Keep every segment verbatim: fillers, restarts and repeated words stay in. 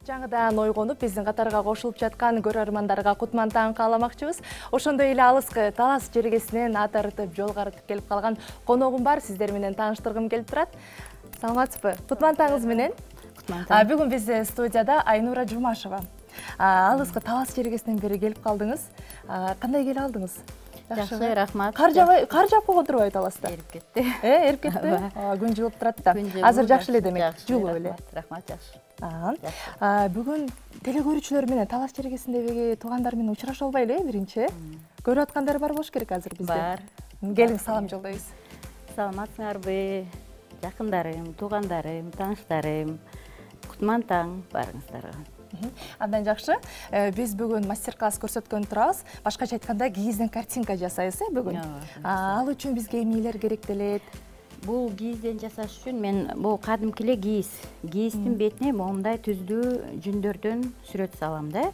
Жаңыдан ойгонуп, биздин катарга кошулуп жаткан көрөрмандарга кутман таң кааламакчыбыз. Ошондой эле алыскы Талас жергесинен ат арытып, жол карытып келип калган коногум бар, сиздер менен тааныштыргым келип турат. Саламатсызбы? Кутман таңыңыз менен. Кутман таң. Бүгүн бизде студияда Айнура Жумашева. Алыскы Талас жергесинен бери келип калдыңыз. Кандай келе алдыңыз? Жакшы, рахмат. Кар жабай, кар жаап койгон турбайбы Таласта? Эрип кетти. Э, эрип кетти. Күн жылып турат да. Азыр жакшы эле демек, жылуу эле. Рахмат, жакшы. Бүгүн телекөрүүчүлөр менен Талас жергесиндеги туугандар менен учураша албайлы э, биринчи. Көрүп аткандар бар болуш керек азыр бизде. Бар. Келиң, салам жолдойбуз. Саламатсыңарбы? Жакындарым, туугандарым, тааныштарым. Кутман таң барыңыздарга. Абдан жакшы. Биз бүгүн мастер-класс көрсөткөн турабыз. Башкача айтканда кийизден картинка жасайбыз э бүгүн. Ал үчүн бизге эмнелер керек делет? Бул кийизден жасаш үчүн мен бул кадимки эле кийиз. Кийиздин бетине момундай түздүү жүндөрдөн сүрөт салам да.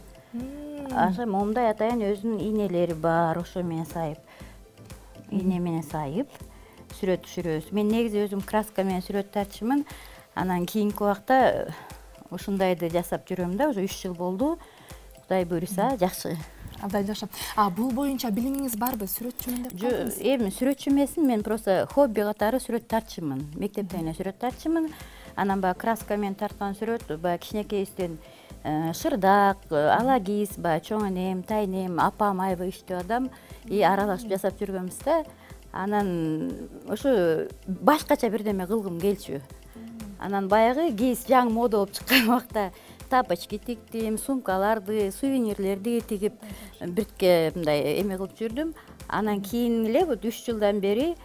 Аша момундай атайын өзүнүн ийнелери бар, ошо менен сайып, ийне менен сайып сүрөт түшүрөбүз. Мен негизи өзүм краска менен сүрөт тартчумун. Анан кийинки убакта ушундайды жасап жүрөм да, уже үч жыл болду. Кудай буйруса, жакшы. Абдан жакшы. А бул боюнча билимиңиз барбы? Сүрөтчүмүн деп калдыңыз? Эми сүрөтчү эмесмин, мен просто хобби катары сүрөт тартчумун. Мектептен эле сүрөт тартчумун. Анан баягы краска менен тарткан сүрөт, баягы кичинекейибизден шырдак, ала киз, баягы чоң энем, тайнем, апам аябай иштөө адам, и аралашып жасап жүргөнбүз да. Анан ошо башкача бирдеме кылгым келчү. Анан баягы киз жаңы мода болуп чыккан убакта тапочки тиктим, сумкаларды, сувенирлерди тигип, биртке мындай эме кылып жүрдүм. Анан кийин эле вот үч жылдан бери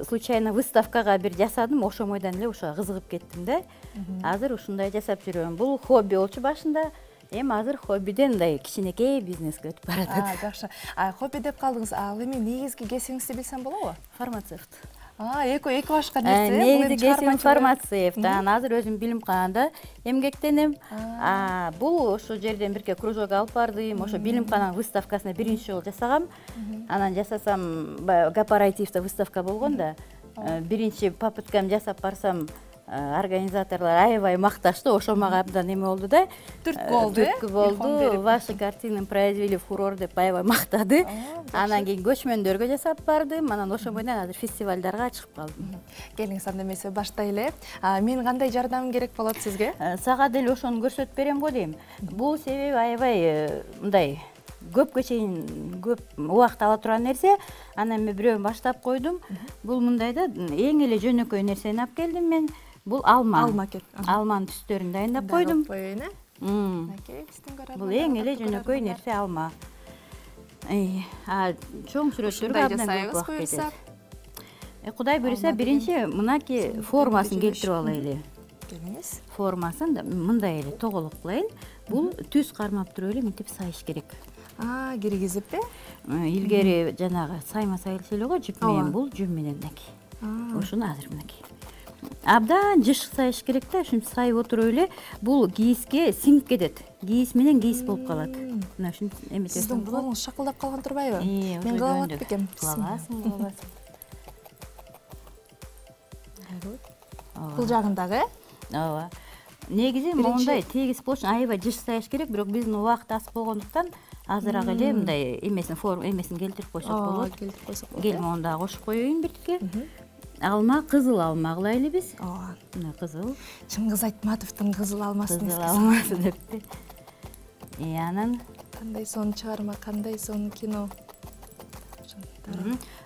случайно выставкага бир жасадым, ошомойдон эле ошого кызыгып кеттим да. Азыр ушундай жасап жүрөм. Бул хобби болчу башында. Эми азыр хоббиден мындай кичинекей бизнеске өтүп баратат. Жакшы. Хобби деп калдыңыз. Ал эми негизги кесибиңизди билсем болобу? Фармацевт. эки эки башка нерсе. Негизи кесибим фармацевт. Анан азыр өзүм билимканада эмгектенем. Бул ошол жерден бирке кружок алып бардым. Ошо билимкананын выставкасына биринчи жолу жасагам. Анан жасасам, корпоративде выставка болгон да. Биринчи попыткам жасап барсам, организаторлор аябай макташты, ошо мага абдан эме болду да. Түрткү болду, э? Түрткү болду. Ваши картины произвели фурор деп аябай мактады. Анан кийин көчмөндөргө жасап бардым. Анан ошо менен азыр фестивалдарга чыгып калдым. Келиңиз, анда эмесе баштайлы. Мен кандай жардамым керек болот сизге? Сага деле ошону көрсөтүп берем го дейм. Бул себеби аябай мындай көпкө чейин көп убакыт ала турган нерсе. Анан мен бирөөнү баштап койдум. Бул мындай да, эң эле жөнөкөй нерсени алып келдим мен. Бул алма. Алма кет. Алманын түстөрүн дайындап койдум. Бул эң эле жөнөкөй нерсе алма. Чоң сүрөттөргө абдан көп убакыт кетет. Кудай буйруса, биринчи мынакей формасын келтирип алайлы. Келиңиз. Формасын мындай эле тоголок кылайын. Бул түз кармап туруп эле мынтип сайыш керек. А, киргизип э? Илгери жанагы сайма сайылчу эле го, жип менен, бул жүн менен мынакей. Ошону азыр мынакей. Абдан жыш сайыш керек да, ушинтип сайып отуруп эле бул кийизге сиңип кетет. Кийиз менен кийиз болуп калат. Мына ушинтип эметесиң. Сиздин колуңуз шакылдап калган турбайбы? Мен кыла алат бекем. Кылабасың, кылабасың. Бул жагындагы, э? Ооба. Негизи мондай тегиз болчу, аябай жыш сайыш керек, бирок биздин убакыт аз болгондуктан азыраак эле мындай эмесин форма эмесин келтирип койсок болот. Келтирип койсок болот. Кел монда кошуп коеюн биртке. Алма, кызыл алма кылайлы биз. Ооба. Мына кызыл. Чыңгыз Айтматовдун кызыл алмасын кызыл алмасы депти. И анан кандай сонун чыгарма, кандай сонун кино.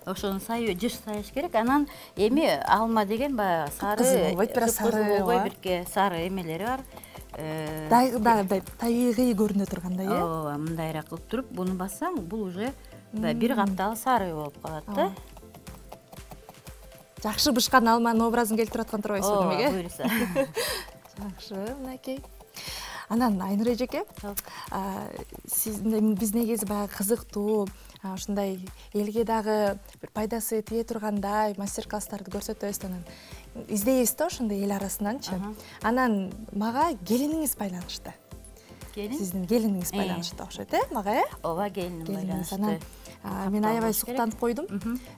Ошону сайып, жыш сайыш керек. Анан эми алма деген баягы сары, кызыл болбойт, бирок сары болбой, бирке сары эмелери бар. Дагы табигый көрүнө тургандай, э? Ооба, мындайраак кылып туруп, буну бассаң, бул уже бир каптагы сары болуп калат да. Жакшы бышкан алманын образын келтирип аткан турбайсызбы демек, э? Ооба, буйруса. Жакшы, мынакей. Анан Айнура эжеке, сиз биз негизи баягы кызыктуу, ушундай элге дагы бир пайдасы тие тургандай мастер-класстарды көрсөтөбүз, анан издейбиз да ошондой эл арасынанчы. Анан мага келиниңиз байланышты. Келин? Сиздин келиниңиз байланышты окшойт, э, мага, э? Ооба, келиним байланышты. Анан мен аябай суктанып койдум.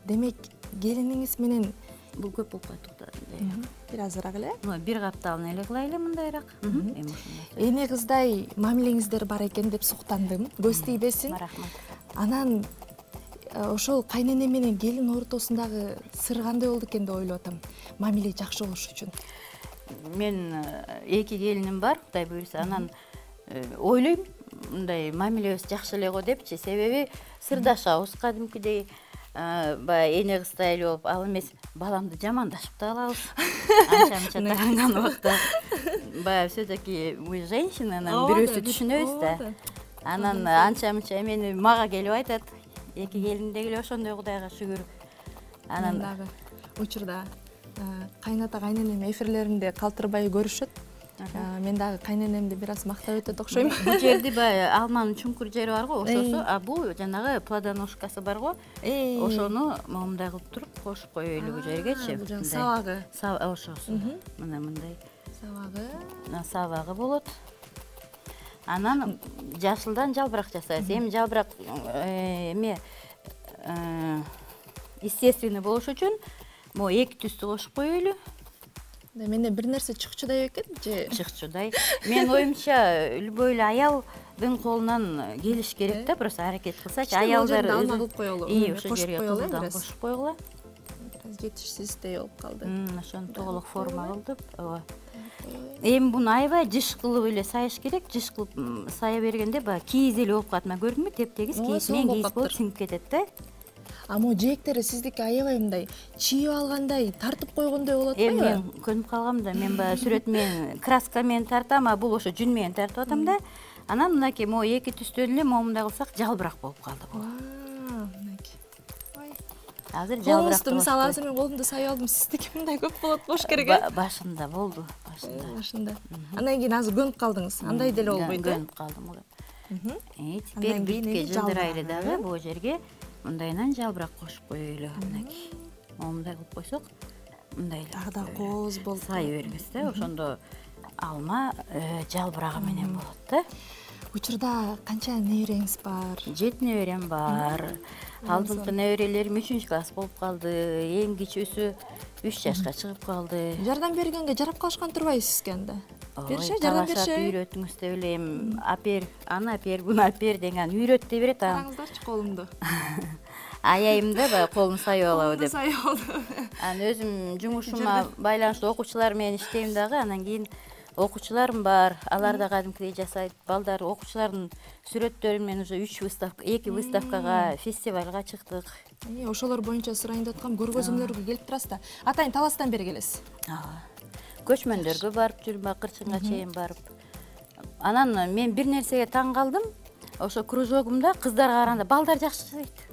Демек, келиниңиз менен бул көп болуп калат да. Бир азыраак эле. Бир капталын эле кылайлы мындайраак. Эне кыздай мамилеңиздер бар экен деп суктандым. Көз тийбесин. Рахмат. Анан ошол кайнене менен келин ортосундагы сыр кандай болду экен деп ойлоп атам. Мамиле жакшы болуш үчүн. Мен эки келиним бар, Кудай буйруса. Анан ойлойм, мындай мамилебиз жакшы эле го депчи. Себеби сырдашабыз кадимкидей. Баягы эне кыздай эле болуп, ал эмес баламды жамандашып да алабыз. Анча-мынча тагынган убакта баягы все-таки мы женщины, анан бирөөсү түшүнөбүз да. Анан анча-мынча эмени мага келип айтат. Эки келин деги эле ошондой, Кудайга шүгүр. Анан дагы учурда кайната кайненем эфирлеримде калтырбай көрүшөт. Мен дагы кайненемди бир аз мактап өтөт окшойм. Бул жерде баягы алманын чуңкур жери бар го, ошосу, а бул жанагы плодоножкасы бар го. Ошону момундай кылып туруп кошуп коелу бул жергечи. Бул сабагы. Ошосу. Мына мындай. Сабагы. Сабагы болот. Анан жашылдан жалбырак жасайбыз. Эми жалбырак эме естественный болуш үчүн могу эки түстү кошуп коелу. Менде бир нерсе чыкчудай экен же? Чыкчудай. Менин оюмча, любой эле аялдын колунан келиш керек да, просто аракет кылсачы. Аялдар алма кылып коелу. И, ошол жерге туздан кошуп койгула. Бир аз жетишсиздей болуп калды. Ошону толук форма кылдып, ооба. Эми буну аябай жыш кылып эле сайыш керек. Жыш кылып сая бергенде баягы кийиз эле болуп калат. Мына көрдүңбү? Теп-тегиз кийиз менен кийиз болуп сиңип кетет да. А могу жээктери сиздики аябай мындай чийип алгандай, тартып койгондой болот го. Эми мен көнүп калгам да. Мен баягы сүрөт менен, краска менен тартам, а бул ошо жүн менен тартып атам да. Анан мынакей могу эки түстөн эле момундай кылсак жалбырак болуп калды бул. Мынакей. Ой. Азыр жалбырак. Мисалы азыр мен колумду сайып алдым, сиздики мындай көп болот болуш керек э? Башында болду, башында. Башында. Андан кийин азыр көнүп калдыңыз. Андай деле болбойт э? Көнүп калдым. Э, теперь битке жылдырайлы дагы бул жерге мындайынан жалбырак кошуп коелу. Мынакей. Момундай кылып койсок, мындай эле. Дагы да кооз болуп сай беребиз да. Ошондо алма жалбырагы менен болот да. Учурда канча небереңиз бар? Жети неберем бар. Алдыңкы неберелерим үчүнчү класс болуп калды. Эң кичүүсү үч жашка чыгып калды. Жардам бергенге жарап калышкан турбайбы сизге анда? Бериши, жардам бериши. Үйрөтүңүз деп элем. Апер, аны апер, буну апер деген үйрөт деп берет. Караңыздарчы колумду. Аяйм да, баягы колум сайып алабы деп. Сайып алды. Анан өзүм жумушума байланыштуу окуучулар менен иштейм дагы. Анан кийин окуучуларым бар. Алар да кадимкидей жасайт. Балдар окуучулардын сүрөттөрү менен уже үч выставка, эки выставкага, фестивалга чыктык. Ошолор боюнча сурайын деп аткам, көргөзмөлөргө келип турасыз да. Атайын Таластан бери келесиз. Ооба. Көчмөндөргө барып жүрүм, Кырчынга чейин барып. Анан мен бир нерсеге таң калдым. Ошо кружогумда кыздарга караганда балдар жакшы жасайт.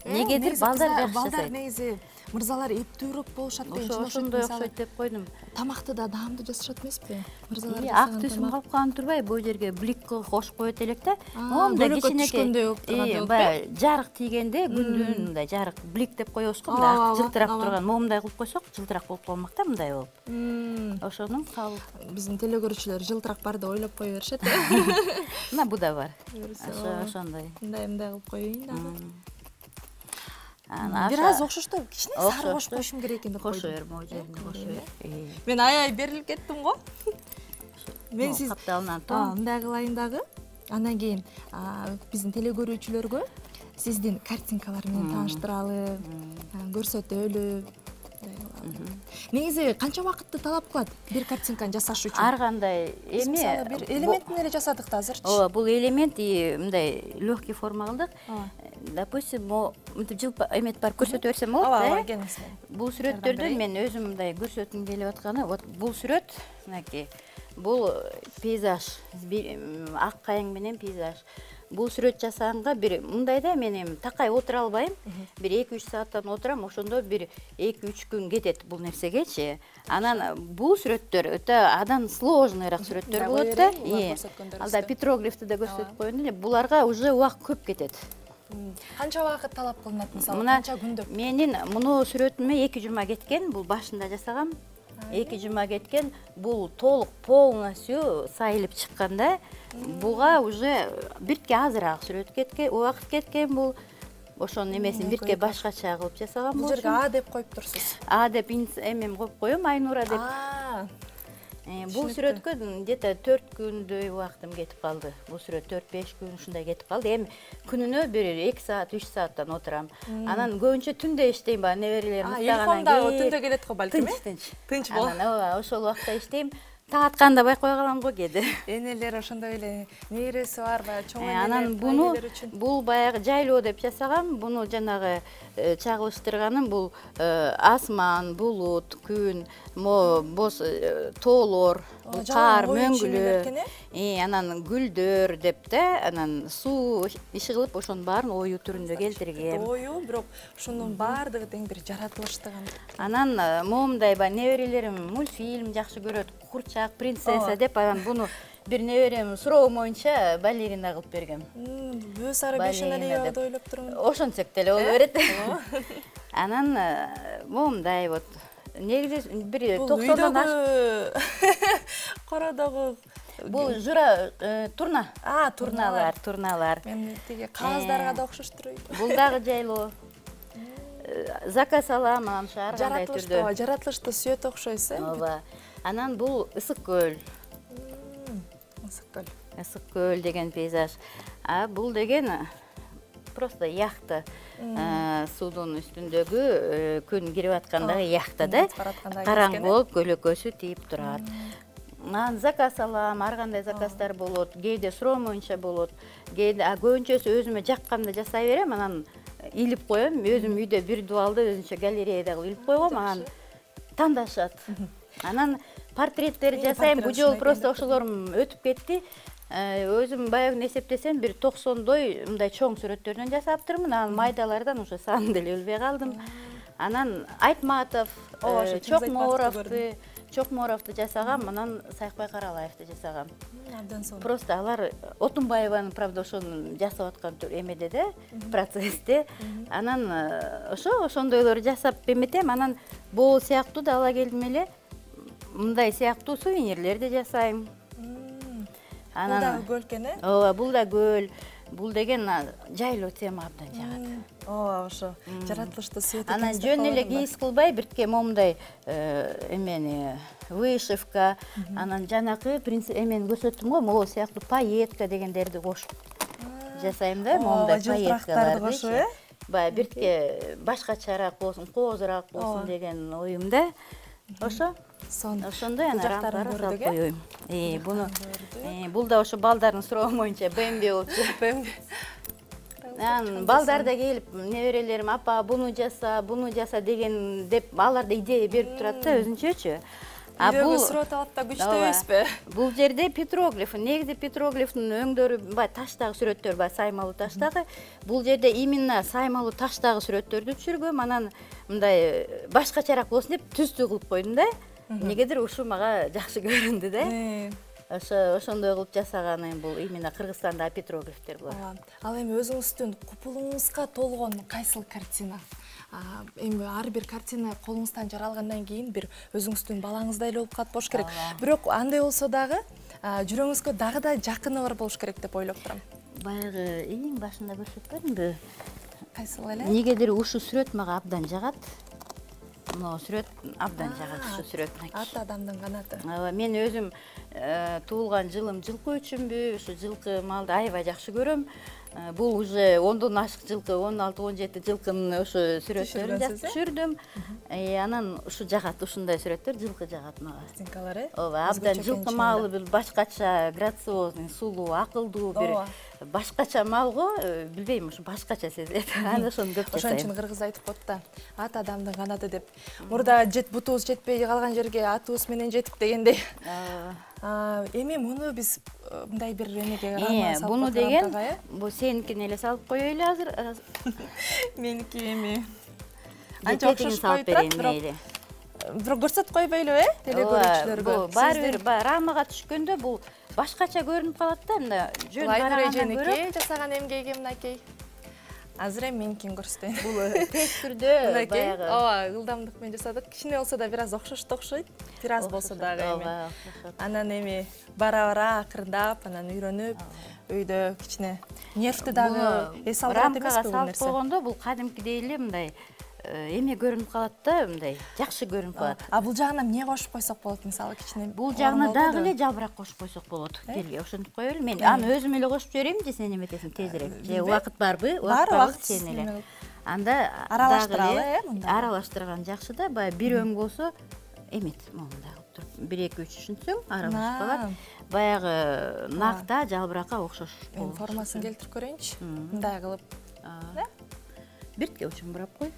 Негедир балдар жакшы жасайт. Балдар негизи мырзалар эптүүрөөк болушат деген чын ошондой окшойт деп койдум. Тамакты да даамдуу жасашат эмеспи? Мырзалар ак түсүм калып калган турбайбы? Бул жерге блик кошуп коет элек да. Момундай кичинекей баягы жарык тийгенде күндүн мындай жарык блик деп коебуз го, мындай ак жылтырап турган. Момундай кылып койсок, жылтырак болуп калмак да, мындай болуп. Ошону салып. Биздин телегөрүүчүлөр жылтырак бар деп ойлоп кое беришет. Мына бу да бар. Ошондой. Мындай мындай кылып коеюн дагы. Бир аз окшоштоо, кичине сары кошуп коюшум керек экен деп койдум. Кошо бер, могу жерине кошо бер. Мен аябай берилип кеттим го. Мен сиз капталынан тоң. Мындай кылайын дагы. Андан кийин биздин телегөрүүчүлөргө сиздин картинкалар менен тааныштыралы, көрсөтөлү. Негизи канча убакытты талап кылат бир картинканы жасаш үчүн? Ар кандай эми бир элементин эле жасадык да азырчы. Ооба, бул элемент мындай легкий форма кылдык. Допустим, мынтип жылпа эмет бар көрсөтө берсем болот да. Ооба, келиңиз. Бул сүрөттөрдөн мен өзүм мындай көрсөткүм келип атканы, вот бул сүрөт, мынакей. Бул пейзаж, ак кайың менен пейзаж. Бул сүрөт жасаганга бир мындай да, мен эми такай отура албайм. Бир эки үч сааттан отурам, ошондо бир эки үч күн кетет бул нерсегечи. Анан бул сүрөттөр өтө адан сложныйраак сүрөттөр болот да. Алда петроглифти да көрсөтүп коеюн эле. Буларга уже убакыт көп кетет. Канча убакыт талап кылынат мисалы, канча күндө? Менин муну сүрөтүмө эки жума кеткен, бул башында жасагам. эки жума кеткен, бул толук полностью сайылып чыкканда, буга уже биртке азыраак сүрөт кеткен, убакыт кеткен бул. ошонун эмесин бирке башкача кылып жасаган бул жерге А деп коюп турсуз. А деп эмем коюп коем, Айнура деп. Бул сүрөткө где-то төрт күндөй убактым кетип калды. Бул сүрөт төрт беш күн ушундай кетип калды. Эми күнүнө бир эки саат, үч сааттан отурам. Анан көбүнчө түндө иштейм, баягы неберелерим уктагандан кийин. Түндө келет го балким, э? Тынч, тынч. Тынч бол. Анан ооба, ошол убакта иштейм. Таң атканда байкой калам го кээде. Энелер ошондой эле нейреси бар, баягы чоң энелер. Анан буну бул баягы жайлоо деп жасагам. Буну жанагы чагылыштырганым бул асман, булут, күн, боз тоолор, кар, мөңгүлөр, анан гүлдөр деп да, анан суу иши кылып ошонун баарын ою түрүндө келтиргем. Ою, бирок ошонун баардыгы тең бир жаратылыштыгын. Анан момундай баягы неберелерим мультфильм жакшы көрөт, Курчак, принцесса деп, анан буну бир неберем суроо боюнча балерина кылып бергем. Бөөс ары бешеналия деп ойлоп турмун. Ошентсек деле боло берет. Анан момундай вот негизи бир токсондон кородогу бул жура турна. А, турналар, турналар. Мен тиги кагаздарга да окшоштур. Бул дагы жайлоо. Заказ алам, анан ошо ар кандай түрдө. Жаратылышты сүйөт окшойсуз, э? Ооба. Анан бул ысык көл. Ысык көл. Ысык көл деген пейзаж. А бул деген просто яхта. Суудун үстүндөгү күн кирип аткандагы яхта да. Караңгы болуп көлөкөсү тийип турат. Анан заказ алам, ар кандай заказдар болот. Кээде суроо боюнча болот. Кээде көбүнчөсү өзүмө жакканда жасай берем, анан илип коем. Өзүм үйдө бир дубалды өзүнчө галереяда кылып илип койгом, анан тандашат. Анан портреттер жасайм. Бул жолу просто ошолорум өтүп кетти. Өзүм баягы эсептесем бир токсондой мындай чоң сүрөттөрдөн жасаптырмын. Анан майдалардан уже санын деле билбей калдым. Анан Айтматов, Чокморовду, Чокморовду жасагам, анан Сайкбай Каралаевди жасагам. Абдан сонун. Просто алар Отунбаеванын, правда, ошону жасап аткан эмеде да, процессте. Анан ошо ошондойлорду жасап эметем. Анан бул сыяктуу да ала келдим эле. Мындай сыяктуу сувенирлерди жасайм. Бул да көл экен, э? Ооба, бул да көл. Бул деген жайлоо тема абдан жагат. Ооба, ошо жаратылышты сүйөт. Анан жөн эле кийиз кылбай бирке момундай эмени вышивка, анан жанакы принцип эмени көрсөттүм го, могу сыяктуу пайетка дегендерди кошуп жасайм да, момундай пайеткаларды. Баягы бирке башкачараак болсун, коозураак болсун деген оюмда. Ошо ошондой анан рампары салып коёюм. Э, буну бул да ошо балдардын суроо боюнча БМВ болчу. Анан балдар да келип, неберелерим, апа, буну жаса, буну жаса деген деп алар да идея берип турат да өзүнчөчү. А бул суроо талап да күчтүү эмеспи? Бул жерде петроглиф, негизи петроглифтин өңдөрү баягы таштагы сүрөттөр, баягы саймалуу таштагы. Бул жерде именно саймалуу таштагы сүрөттөрдү түшүргөм, анан мындай башкачараак болсун деп түздүү кылып койдум да. Негедир ушу мага жакшы көрүндү да. Ошо ошондой кылып жасаганым бул именно Кыргызстандагы петроглифтер болот. Ал эми өзүңүздүн купулуңузга толгон кайсыл картина? Эми ар бир картина колуңуздан жаралгандан кийин бир өзүңүздүн балаңыздай эле болуп калат болуш керек. Бирок андай болсо дагы жүрөгүңүзгө дагы да жакыны бар болуш керек деп ойлоп турам. Баягы эң башында көрсөткөнбү? Кайсыл эле? Негедир ушу сүрөт мага абдан жагат. Мына сүрөт абдан жагат, ушу сүрөт. Ат адамдын канаты. Ооба, мен өзүм туулган жылым жылкы үчүнбү, ушу жылкы малды аябай жакшы көрөм. Бул уже ондон ашык жылкы, он алты он жети жылкынын ошо сүрөттөрүн түшүрдүм. Анан ушу жагат, ушундай сүрөттөр жылкы жагат мага. Картинкалар, э? Ооба, абдан жылкы малы бир башкача, грациозный, сулуу, акылдуу бир башкача малго, билбейм, ушу башкача сезилет. Аны ошону көп жасайм. Ошон үчүн кыргыз айтып коет да, ат адамдын канаты деп. Мурда жет бутубуз жетпей калган жерге атыбыз менен жетип дегендей. Эми муну биз мындай бир эмеге карап салып. Буну деген, бул сеникини эле салып коелу азыр. Меники эми. Анча окшош коюп турат, бирок бирок көрсөтүп койбойлу, э? Теле көрүүчүлөргө. Баары бир рамага түшкөндө бул башкача көрүнүп калат да, мында жөн барагандан көрө. жасаган эмгеги мынакей. азыр эми меникин көрсөтөйүн. Бул тез түрдө баягы ооба ылдамдык менен жасадык. Кичине болсо да бир аз окшошту окшойт. Бир аз болсо дагы эми. Анан эми бара-бара акырындап, анан үйрөнүп, үйдө кичине нервти дагы эс алдырат эмеспи бул нерсе? Салып койгондо бул кадимкидей эле мындай эме көрүнүп калат да, мындай жакшы көрүнүп калат. А бул жагына эмне кошуп койсок болот, мисалы кичине? Бул жагына дагы эле жалбырак кошуп койсок болот. Келге ошентип коелу. Мен аны өзүм эле кошуп жиберейин же сен эметесиң тезирээк? Же убакыт барбы? Бар, убакыт сен эле. Анда аралаштыралы, э, мында. Аралаштырган жакшы да, баягы бир өң болсо эмет, мондай кылып туруп. бир эки үч ушинтсең аралашып калат. Баягы накта жалбыракка окшош болот. Мен формасын келтирип көрөйүнчү. Мындай кылып. Биртке учун бурап кой.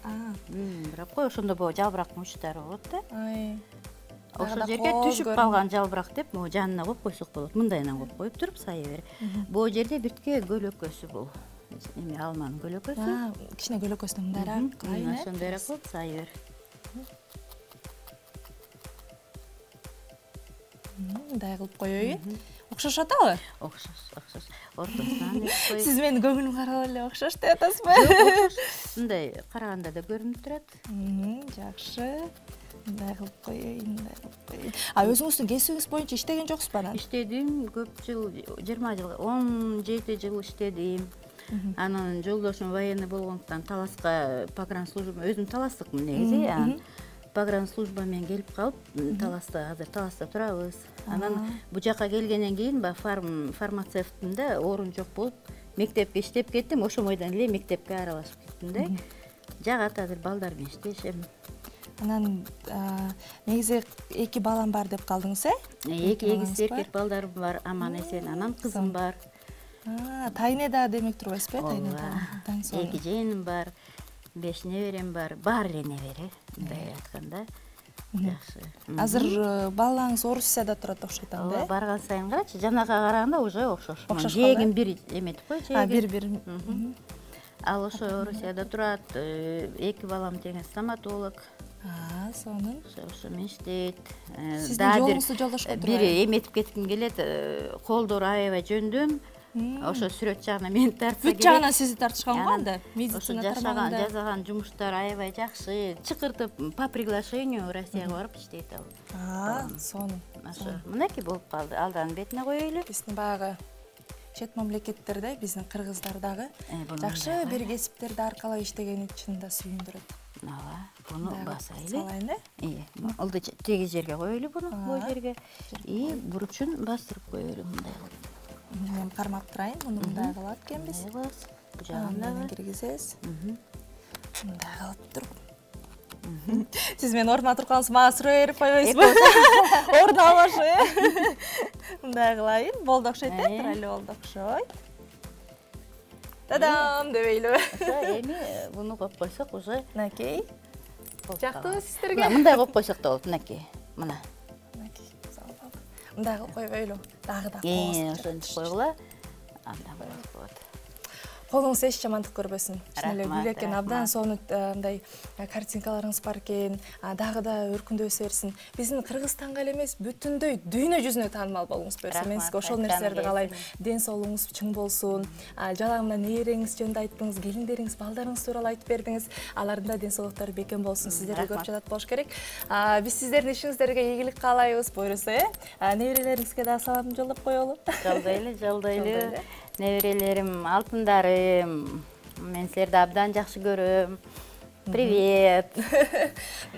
А, бурап кой, ошондо бул жалбырактын учтары болот да. Ай. Ошол жерге түшүп калган жалбырак деп, могу жанына коюп койсок болот. Мындайынан коюп коюп туруп сайы бер. Бул жерде биртке көлөкөсү бул. Эми алманын көлөкөсү. А, кичине көлөкөсүн мындайраак кылайын, э? Ошондойраак кылып сайы бер. Мындай кылып коеюн. Окшош атабы? Окшош, окшош. Ортосунан деп кой. Сиз менин көңүлүм карап эле окшош деп атасызбы? Мындай караганда да көрүнүп турат. Жакшы. Мындай кылып коеюн, мындай кылып коеюн. А өзүңүздүн кесибиңиз боюнча иштеген жоксузбу анан? Иштедим, көп жыл, жыйырма жыл, он жети жыл иштедим. Анан жолдошум военный болгондуктан Таласка погранслужба, өзүм таластыкмын негизи. Анан погранслужба менен келип калып, Таласта, азыр Таласта турабыз. Анан бу жака келгенден кийин баягы фармацевттин да орун жок болуп, мектепке иштеп кеттим, ошол бойдон эле мектепке аралашып кеттим да. Жагат азыр балдар менен иштешем. Анан негизи эки балам бар деп калдыңыз, э? Эки эгиз эркек балдарым бар, аман эсен. Анан кызым бар. Тайне да демек турбайсызбы, тайне да. Эки жыйыным бар, беш неберем бар, баары эле небере, мындай айтканда. Жакшы. Азыр балаңыз Орусияда турат окшойт анда, э? Барган сайын карачы, жанага караганда уже окшош. Жээгим бир эметип кой, жээгим. А, бир-бир. Ал ошо Орусияда турат, эки балам тең стоматолог. А, сонун. Ошо менен иштейт. Сиздин жолуңузду жолдошкон турат. Бир эметип кетким келет, колдор аябай жөндөм. Ошо сүрөт жагына мени тартса керек. Бүт жагынан сизди тартышканго анда? Медицина тармагында жазган жумуштар аябай жакшы. Чакыртып по приглашению Россияга барып иштейт ал. А, сонун. Ошо мынакей болуп калды. Алдан бетине коелу. Биздин баягы чет мамлекеттерде биздин кыргыздар дагы жакшы бир кесиптерди аркалап иштегени чынында сүйүндүрөт. Ооба, буну басайлы. Салайын, э? Ие, ылды тегиз жерге коелу буну, бул жерге. И бурчун бастырып коелу мындай кылып. Мен кармап турайын, муну мындай кылат экенбиз. Бу жагында киргизесиз. Мындай кылып туруп. Сиз менин ордума турганыңызды мага суроо берип койбойсузбу? Ордун албашы, э? Мындай кылайын, болду окшойт, э? Тура эле болду окшойт. Тадам дебейлүү. Эми буну коюп койсок уже мынакей. Жактыбы сиздерге? Мындай коюп койсок да болот, мынакей. Мына. Мынакей. Мындай кылып койбойлу. Дагы да Э, ошентип койгула. Анда болот. Колуңуз эч жамандык көрбөсүн. Чын эле гүл экен, абдан сонун мындай картинкаларыңыз бар экен. Дагы да өркүндөсө берсин. Биздин Кыргызстанга эле эмес, бүтүндөй дүйнө жүзүнө таанымал болгуңуз берсин. Мен сизге ошол нерселерди каалайм. Ден соолугуңуз чың болсун. Жалаңда нээреңиз жөнүндө айттыңыз, келиндериңиз, балдарыңыз тууралуу айтып бердиңиз. Алардын да ден соолуктары бекем болсун. Сиздерди көрүп жатат болуш керек. Биз сиздердин ишиңиздерге ийгилик каалайбыз, буйруса, э? Неберелериңизге да салам жолдоп коелу. Жолдойлу, жолдойлу. Неберелерим, алтындарым, мен силерди абдан жакшы көрөм. Привет.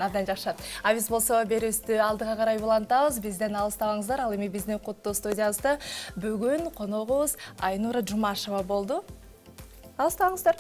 Абдан жакшы. А биз болсо берүүбүздү алдыга карай улантабыз. Бизден алыстабаңыздар. Ал эми биздин Куттуу студиябызда бүгүн коногубуз Айнура Жумашева болду. Алыстабаңыздар.